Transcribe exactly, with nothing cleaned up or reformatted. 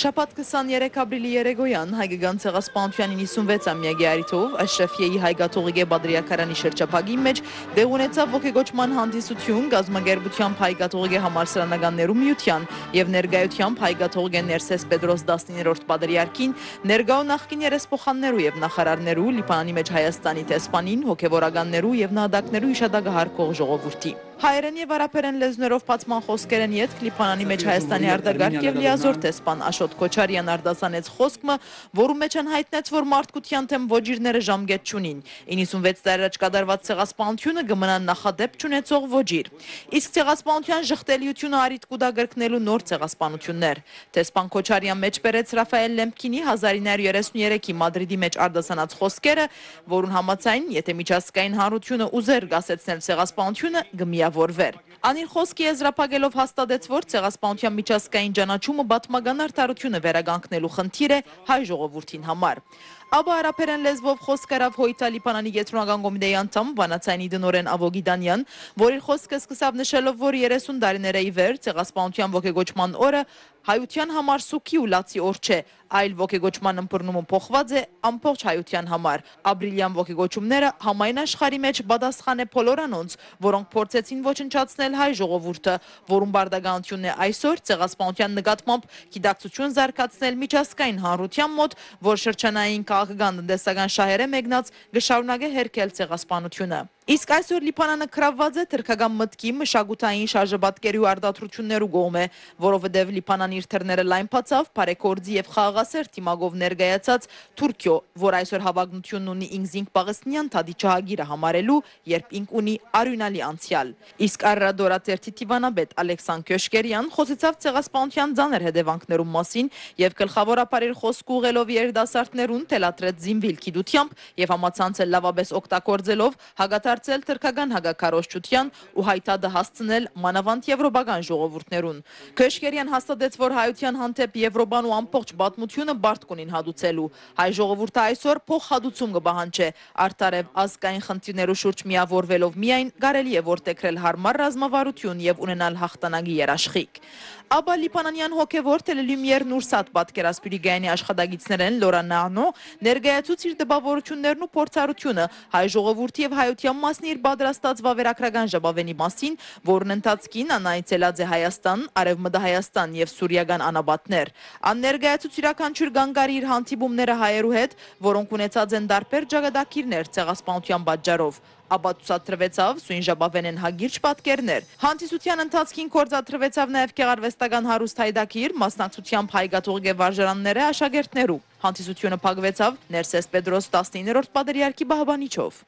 Շաբաթ քսաներեք ապրիլի երեկոյան Հայկական Ցեղասպանութեան իննսունվեց ամեակի առիթով Աշրաֆիեի հայ կաթողիկէ պատրիարքարանի շրջափակին մէջ տեղի ունեցաւ ոգեկոչման հանդիսութիւն, կազմակերպութեամբ Հայ կաթողիկէ համալսարանականներու միութեան եւ ներկայութեամբ Հայ կաթողիկէ Ներսէս Պետրոս տասներորդ պատրիարքին, ներկայ ու նախկին երեսփոխաններու եւ նախարարներու, Լիբանանի մէջ Հայաստանի դեսպանին, հոգեվորականներու եւ նահատակներու յիշատակը յարգող ժողովուրդի։ Հայերէն եւ արաբերէն լեզուներով բացման խօսքերէն ետք Լիբանանի մէջ Հայաստանի արտակարգ եւ լիազօր դեսպան Աշոտ Քոչարեան արտասանեց խօսք մը, որու մէջ ան յայտնեց, որ մարդկութեան դէմ ոճիրները ժամկէտ չունին։ Իննսունվեց տարի առաջ կատարուած ցեղասպանութիւնը կը մնայ նախադէպ չունեցող ոճիր։ Իսկ ցեղասպանութեան ժխտելիութիւնը առիթ կու տայ կրկնելու նոր ցեղասպանութիւններ։ Դեսպան Քոչարեան մէջբերեց Ռաֆայել Լեմփքինի հազար ինը հարիւր երեսուն երեքի Մադրիդի մէջ արտասանած խօսքերը, որուն համաձայն, եթէ միջազգային հանրութիւնը ուզեր կասեցնել ցեղասպանութիւնը, կը միաւորուէր։ Ան իր խօսքը եզրափակելով հաստատեց, որ ցեղասպանութեան միջազգային ճանաչումը պատմական արդարութիւնը վերականգնելու խնդիր է հայ ժողովուրդին համար։ Ապա արաբերէն լեզուով խօսք առաւ Հոյթա Լիբանանի կեդրոնական կոմիտեի անդամ, վանացայինի տնօրէն Ավո Գիտանեան, որ իր խօսքը սկսաւ նշելով, որ երեսուն տարիներ է ի վեր, ցեղասպանութեան ոգեկոչման օրը հայութեան համար սուգի ու լացի օր չէ, այլ ոգեկոչման ըմբռնումը փոխուած է ամբողջ հայութեան համար։ Ապրիլեան ոգեկոչումները համայն աշխարհի մէջ պատասխան է բոլոր անոնց, որոնք փորձեցին ոչնչացնել հայ ժողովուրդը, որուն պարտականութիւնն է այսօր ցեղասպանութեան նկատմամբ գիտակցութիւն զարգացնել միջազգային հանրութեան մօտ, որ շրջանային քաղաքական տնտեսական շահերէ մեկնած կը շարունակէ հերքել ցեղասպանութիւնը։ Իսկ այսօր Լիբանանը գրաւուած է թրքական մտքի, մշակութային շարժապատկերի ու արտադրութիւններու կողմէ, որովհետեւ Լիբանան իր դռները լայն բացաւ բարեգործի եւ խաղաղասէր դիմակով ներկայացած Թուրքիոյ, որ այսօր հաւագնութիւնն ունի ինքզինք Պաղեստինեան դատի ջահագիրը համարելու, երբ ինք ունի արիւնալի անցեալ։ Իսկ Արարատոր թերթի դիվանապետ Ալեքսան Քյոշկերեան խօսեցաւ ցեղասպանութեան ծանր հետեւանքներուն մասին եւ գլխաւորաբար իր խօսքը ուղղելով երիտասարդներուն թելադրեց զինուիլ գիտութեամբ եւ համացանցը լաւապէս օգտագործելով հակադարձել թրքական հակաքարոզչութեան ու հայ դատը հասցնել մանաւանդ եվրոպական ժողովուրդներուն։ Քյոշկերեան հաստատեց, որ հայութեան հանդէպ Եվրոպան ու ամբողջ պատմութիւնը պարտք ունին հատուցելու։ Հայ ժողովուրդը այսօր փոխհատուցում կը պահանջէ։ Արդար եւ ազգային խնդիրներու շուրջ միաւորուելով միայն կարելի է որդեգրել յարմար ռազմավարութիւն եւ ունենալ յաղթանակի երաշխիք։ Ապա լիբանանեան հոգեւոր Թելելիմ Եր Նուրսատ պատկերասփիւռի կայանի աշխատակիցներէն Լորա Նանո ներկայացուց իր տպաւորութիւններն ու փորձառութիւնը հայ ժողովուրդի եւ հայութեան մասին իր պատրաստած վավերագրական ժապաւէնի մասին, որուն ընթացքին ան այցելած է Հայաստան, Արեւմտահայաստան եւ սուրիական անապատներ։ Ան ներկայացուց իւրաքանչիւր կանգ առի իր հանդիպումները հայերու հետ, որոնք ունեցած են տարբեր ճակատագիրներ ցեղասպանութեան պատճառով, ապա ցուցադրուեցաւ սոյն ժապաւէնէն հակիրճ պատկերներ։ Հանդիսութեան ընթացքին գործադրուեցաւ նաեւ գեղարուեստական հարուստ յայտագիր, մասնակցությամբ հայ կաթողիկէ վարժարաններէ աշակերտներու։ Հանդիսութիւնը փակուեցաւ Ներսէս Պետրոս տասնիններորդ պատրիարքի պահապանիչով։